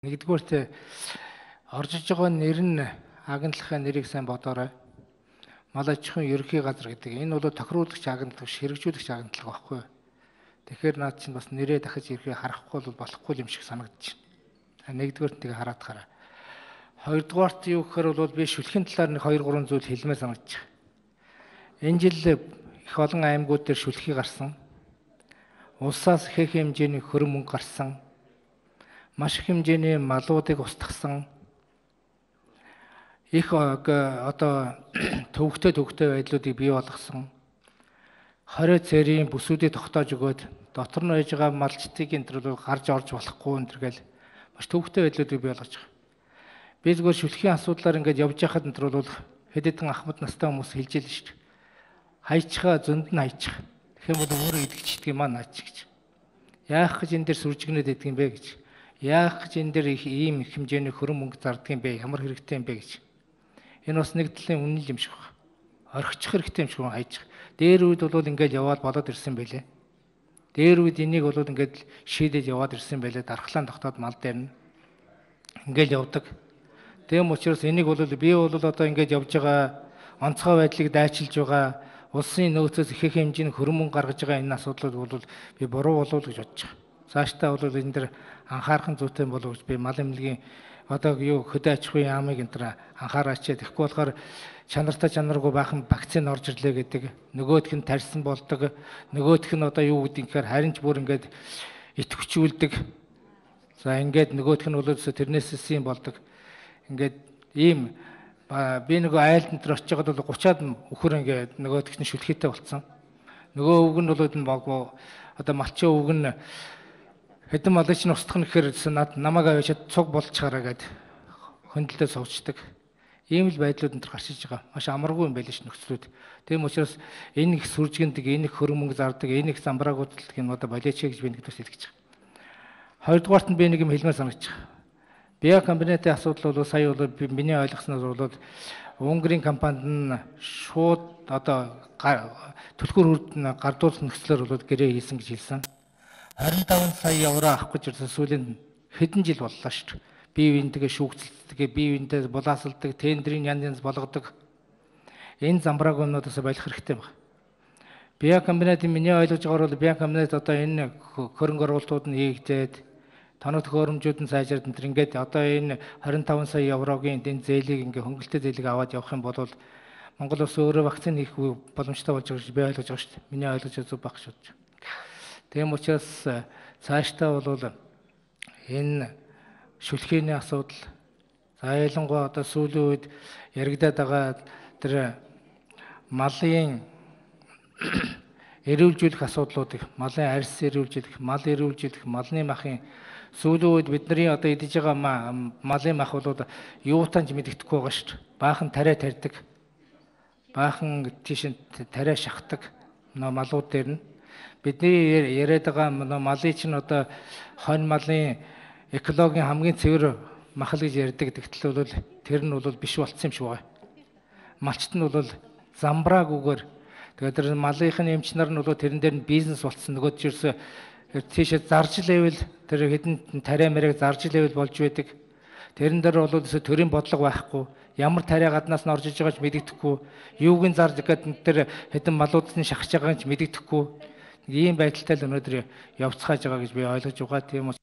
Нэгдүгээрт орж иж байгаа нэр нь агентлахын нэрийг сайн бодоорой. Мал аж ахуйн ерөнхий газар гэдэг. Энэ бол тохируулагч агентлаг, хэрэгжүүлэгч агентлаг байхгүй. Тэгэхээр наад чинь бас нэрээ дахиж ирэхээ харахгүй бол болохгүй юм шиг санагдаж байна. Нэгдүгээрт тийг хараад хараа. Хоёрдугаарт юу гэхээр бол би шүлхийн талаар нэг 2-3 зүйл хэлмээр санагдаж байна. Энэ жил их олон аймагуд дээр шүлхий гарсан. Улсаас их хэмжээний хөрөн мөнгө гарсан. Маш их хэмжээний малуудыг устгасан. Их одоо төвөгтэй байдлуудыг бий болгосон. 20 цэрийн бүсүүдийг тогтоож өгөөд дотор нь байж байгаа малчдыг энэ төр гарч орж болохгүй энэ төр гэл маш төвөгтэй байдлуудыг бий болгож байгаа. Би зүгээр шүлхийн асуудлаар ингээд явж байхад энэ төр бол хэд хэдэн ахмад настай хүмүүс хэлж ийл шүү дээ. Хайчгаа зөнд нь хайчих. Тэгэх юм бол өөрөө идэгчдэг юм аа наач гэж. Яах гэж энэ дээр сүржигнээд идэх юм бэ гэж. Яах гэж энэ дээр ийм их хэмжээний хөрөн мөнгө зардаг юм бэ? Ямар хэрэгтэй юм бэ гэж. Энэ бас нэг талын үнэн юм шиг байна. Орхичих хэрэгтэй юм шиг байна хайчих. Дээр үед бол ингээд яваад болоод ирсэн байлээ. Дээр үед энийг бол ингээд шийдээд яваад ирсэн байлээ. Дархлаан тогтоод мал дээр нь ингээд явдаг. Тэм учраас энийг бол би бол одоо ингээд явж байгаа онцгой байдлыг дайчилж байгаа улсын нөөцөөс их хэмжээний хөрөн мөнгө гаргаж байгаа энэ асуудлууд бол би буруу болов гэж бодож байгаа. Цаашдаа бол энэ дэр анхаарах зүйтэй болов гэж би мал эмнэлгийн одоо юу хөдөө аж ахуйн яамыг энэ төр анхаараач. Тэгэхгүй болохоор чанартай чанаргүй баахан вакцин орж ирлээ гэдэг. Нөгөөх нь тарьсан болдог. Нөгөөх нь одоо юу гэдэг гэхээр харин ч бүр ингээд итгэвчүүлдэг. За ингээд нөгөөх нь бол тэрнээс юм болдог. Ингээд ийм би нөгөө айлд энэ очиж байгаад бол 30-аад өхөр ингээд нөгөөх нь шүлхийтэй болцсон. Нөгөө өвг нь бол одоо малчин өвг нь хэдэн малч нь устгах нь гэхээр намайг аваад цуг болчихараа гэд хөндлөлтөд сувчдаг. Ийм л байдлууд энэ гарч иж байгаа. Маш амаргүй юм байл ш нөхцлүүд. Тийм учраас энэ их сүржигэндэг, энэ их хөрөн мөнгө зардаг, энэ их замбраагууддаг энэ одоо болооч гэж би нэгдүгээр хэлж байгаа. Хоёрдугаарт нь би нэг юм хэлмээр санагдаж байгаа. Биа комбинатын асуудал бол сая бол миний ойлгосноор бол Унгарын компанид нь шууд одоо түлхүүр хүрд гардуулах нөхцлөөр бол гэрээ хийсэн гэж хэлсэн. 25 сая евро авах гэж ирсэн сүүлийн хэдэн жил боллоо шүү дээ. Бие биентэйгээ шүүгцэлдэг, бие биентэй булаасалдаг, тендерийн янз болгодог. Энэ замбраагуудаас болох хэрэгтэй байна. Биа комбинатын миний ойлгож байгаагаар бол биа комбинат одоо энэ хөрөнгө оруулалтууд нь хийгдээд тоног төхөөрөмжүүд нь сайжраад энэ ингээд одоо энэ 25 сая еврогийн энэ зээлийг ингээ хөнгөлөлтөд зээлийг аваад явах юм бол Монгол улс өөрөө вакцин хийх боломжтой болж байгаа гэж би ойлгож байгаа шүү дээ. Миний ойлгож зүг баг шүү дээ. Тийм учраас цаашдаа бол энэ шүлхийний асуудал за ялангуяа одоо сүүлийн үед яригадаад байгаа тэр малын эрүүлжүүлэх асуудлуудыг, малын арьс эрүүлжүүлэх, мал эрүүлжүүлэх, малны махын сүүлийн үед бидний одоо идэж байгаа малын мах бол юутанч мэддэхгүй байгаа шүү дээ. Баахан тариа тарьдаг. Баахан тийш тариа шахдаг малууд дээр нь бидний яриад байгаа малын чинь одоо хонь малын экологийн хамгийн цэвэр махал гэж ярьдаг гэдэгтэл бол тэр нь бол биш болцсон юм шиг байна. Малчт нь бол замбраагүйгээр тэгээд тэр малынхын эмч нар нь бол тэрэн дээр нь бизнес болцсон. Нөгөө чирс тийшээ зарж лээвэл тэр хэдэн тариа мэрэг зарж лээвэл болж байдаг. Тэрэн дээр бол төрийн бодлого байхгүй. Ямар тариа гаднаас нь орж иж байгааг ч мэддэхгүй. Юуг нь зарж гэдэг тэр хэдэн малууд нь шахаж байгааг ч мэддэхгүй. Ийм байдалтай л өнөөдөр явцгааж байгаа гэж би ойлгож байгаа. Тийм